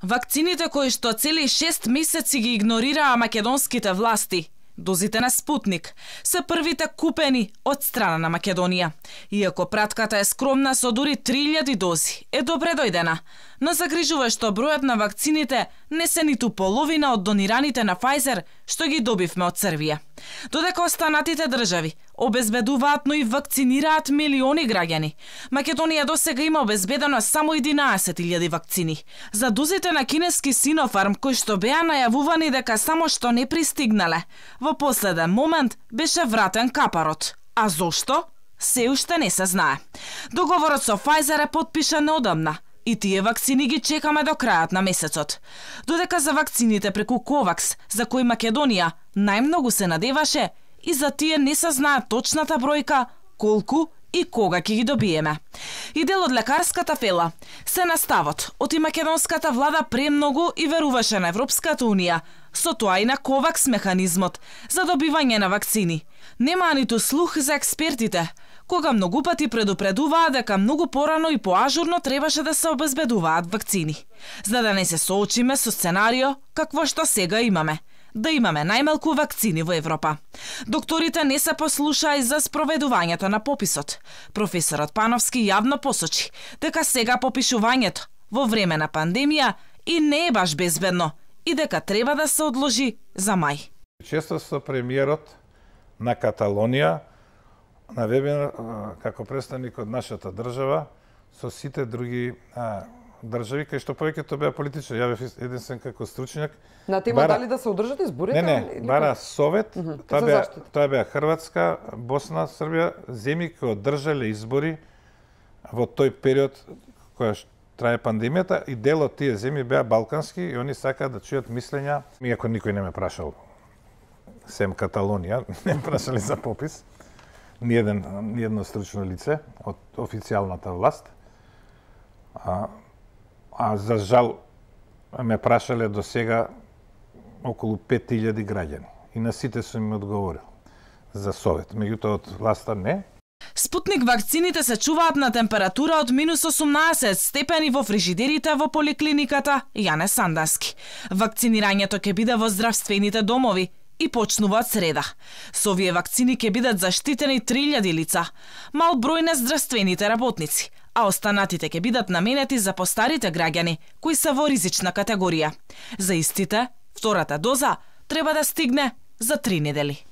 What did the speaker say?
Вакцините кои што цели 6 месеци ги игнорираа македонските власти, дозите на Спутник, се првите купени од страна на Македонија. Иако пратката е скромна со дури 3000 дози, е добре дојдена, но загрижува што бројот на вакцините не се ниту половина од донираните на Pfizer што ги добивме од Србија. Додека останатите држави обезбедуваат, но и вакцинираат милиони граѓани, Македонија досега има обезбедено само 11.000 вакцини. За дозите на кинески Синофарм, кои што беа најавувани дека само што не пристигнале, во последен момент беше вратен капарот. А зошто? Се уште не се знае. Договорот со Pfizer е потпишан неодамна и тие вакцини ги чекаме до крајот на месецот. Додека за вакцините преку Ковакс, за кои Македонија најмногу се надеваше, и за тие не се знае точната бројка, колку и кога ќе ги добиеме. И дел од лекарската фела се наставот од и македонската влада премногу и веруваше на Европската Унија, со тоа и на Ковакс механизмот за добивање на вакцини. Нема ниту слух за експертите, кога многу пати предупредуваа дека многу порано и поажурно требаше да се обезбедуваат вакцини, за да не се соочиме со сценарио какво што сега имаме, да имаме најмалку вакцини во Европа. Докторите не се послушаа и за спроведувањето на пописот. Професорот Пановски јавно посочи дека сега попишувањето во време на пандемија и не е баш безбедно и дека треба да се одложи за мај. Често со премиерот на Каталонија на вебинар како представник од нашата држава со сите други држави кај што повеќето беа политичари. Ја бев единствен како стручњак. На тема дали да се одржат изборите? Не, бара совет. Тоа беа Хрватска, Босна, Србија, земји кои одржале избори во тој период која трае пандемијата, и дел од тие земји беа балкански и они сакаат да чујат мислења, иако никој не ме прашал, сем Каталонија, не прашале за попис, ни едно стручно лице од официјалната власт. А за жал ме прашале до сега околу 5000 граѓани и на сите сум им одговорил за совет. Меѓутоа од власта не. Спутник вакцините се чуваат на температура од -18 степени во фрижидерите во поликлиниката Јане Сандански. Вакцинирањето ќе биде во здравствените домови и почнува од среда. Со овие вакцини ќе бидат заштитени 3000 лица, мал број на здравствените работници, а останатите ќе бидат наменети за постарите граѓани кои се во ризична категорија. За истите, втората доза треба да стигне за 3 недели.